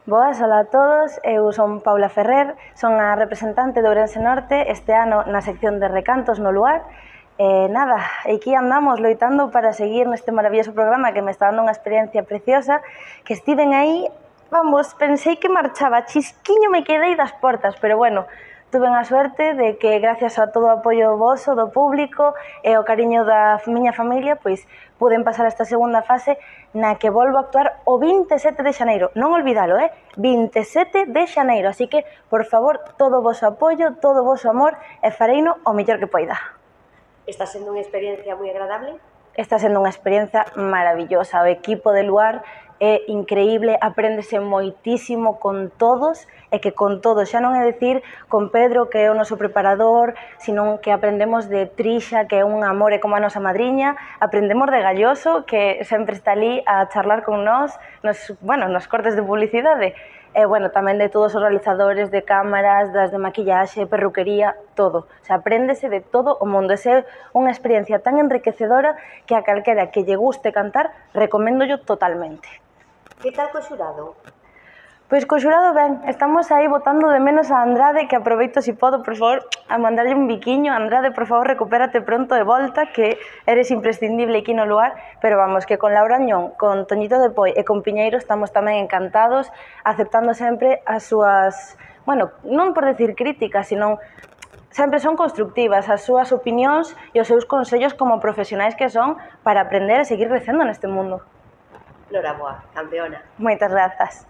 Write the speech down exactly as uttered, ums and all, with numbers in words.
Boas, hola a todos, eu son Paula Ferrer, son a representante de Ourense Norte este ano na sección de recantos no luar. E nada, aquí andamos loitando para seguir neste maravilloso programa que me está dando unha experiencia preciosa, que estiven aí, vamos, pensei que marchaba, chisquiño me quedei das portas, pero bueno, tuve a suerte de que gracias a todo o apoio voso, do público e o cariño da miña familia, pois puden pasar esta segunda fase na que volvo a actuar o vinte e sete de xaneiro. Non olvidalo, eh? vinte e sete de xaneiro, así que, por favor, todo o voso apoio, todo o voso amor e fareino o mellor que poida. Está sendo unha experiencia moi agradable? Está sendo unha experiencia maravillosa. O equipo de Luar é increíble, apréndese moitísimo con todos e que con todos, xa non é dicir con Pedro, que é o noso preparador, sino que aprendemos de Trixa, que é un amor e como a nosa madriña, aprendemos de Galloso, que sempre está ali a charlar con nós, nos, bueno, nos cortes de publicidade, e, bueno, tamén de todos os realizadores de cámaras, das de maquillaxe, perruquería, todo. O sea, apréndese de todo o mundo. Esa é unha experiencia tan enriquecedora que a calquera que lle guste cantar, recoméndollo totalmente. Que tal co xurado? Pois co xurado ben, estamos aí botando de menos a Andrade, que aproveito si podo, por favor, a mandarlle un biquiño. Andrade, por favor, recupérate pronto de volta, que eres imprescindible aquí no lugar, pero vamos, que con Laura Añón, con Toñito de Poi e con Piñeiro estamos tamén encantados, aceptando sempre as súas, bueno, non por decir críticas, sino sempre son constructivas as súas opinións e os seus consellos como profesionais que son para aprender e seguir crecendo neste mundo. Noraboa, campeona. Moitas grazas.